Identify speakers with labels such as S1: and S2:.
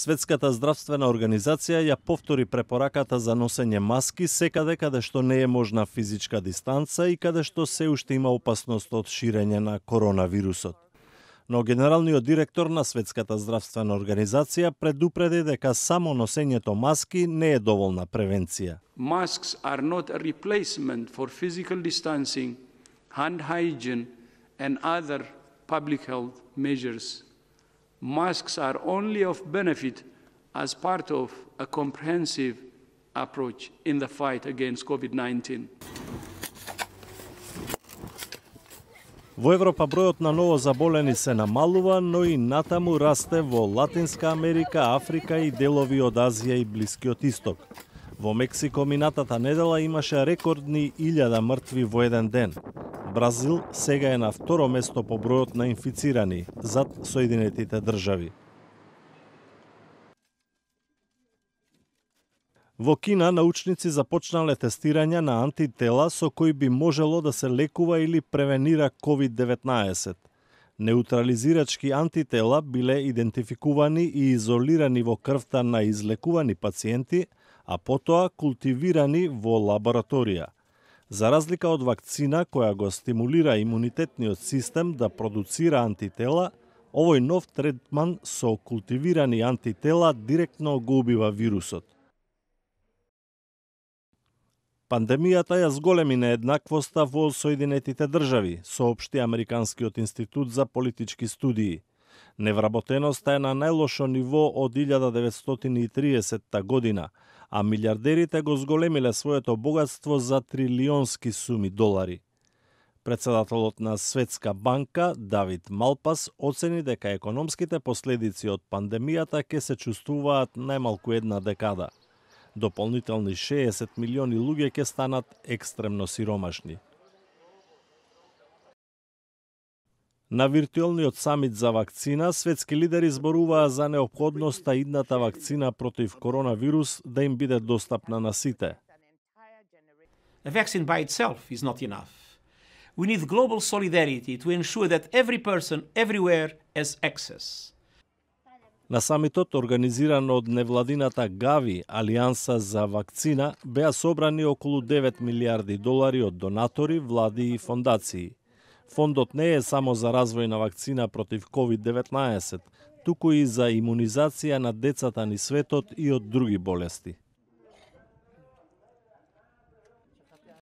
S1: Светската здравствена организација ја повтори препораката за носење маски секаде каде што не е можна физичка дистанца и каде што се уште има опасност од ширење на коронавирусот. Но генералниот директор на Светската здравствена организација предупреди дека само носењето маски не е доволна превенција.
S2: Masks are not a replacement for physical distancing, hand hygiene and other public health measures. Masks are only of benefit as part of a comprehensive approach in the fight against COVID-19.
S1: Во Европа бројот на ново заболени се намалува, но и натаму расте во Латинска Америка, Африка и делови од Азија и Блискиот Исток. Во Мексико минатата недела имаше рекордни 1000 мртви во еден ден. Бразил сега е на второ место по бројот на инфицирани, зад Соединетите држави. Во Кина научници започнале тестирање на антитела со кои би можело да се лекува или превенира COVID-19. Неутрализирачки антитела биле идентификувани и изолирани во крвта на излекувани пациенти, а потоа култивирани во лабораторија. За разлика од вакцина која го стимулира имунитетниот систем да продуцира антитела, овој нов третман со култивирани антитела директно го убива вирусот. Пандемијата ја зголеми нееднаквоста во Соединетите држави, соопшти Американскиот институт за политички студии. Невработеноста е на најлошо ниво од 1930 година, а милиардерите го зголемиле своето богатство за трилионски суми долари. Председателот на Светска банка, Давид Малпас, оцени дека економските последици од пандемијата ќе се чувствуваат најмалку една декада. Дополнителни 60 милиони луѓе ќе станат екстремно сиромашни. На виртуелниот самит за вакцина, светски лидери зборуваа за неопходноста идната вакцина против коронавирус да им биде достапна на сите.
S3: A vaccine by itself is not enough. We need global solidarity to ensure that every person everywhere has access.
S1: На самитот, организиран од невладината Gavi, Алијанса за вакцина, беа собрани околу 9 милиарди долари од донатори, влади и фондации. Фондот не е само за развој на вакцина против COVID-19, туку и за имунизација на децата ни светот и од други болести.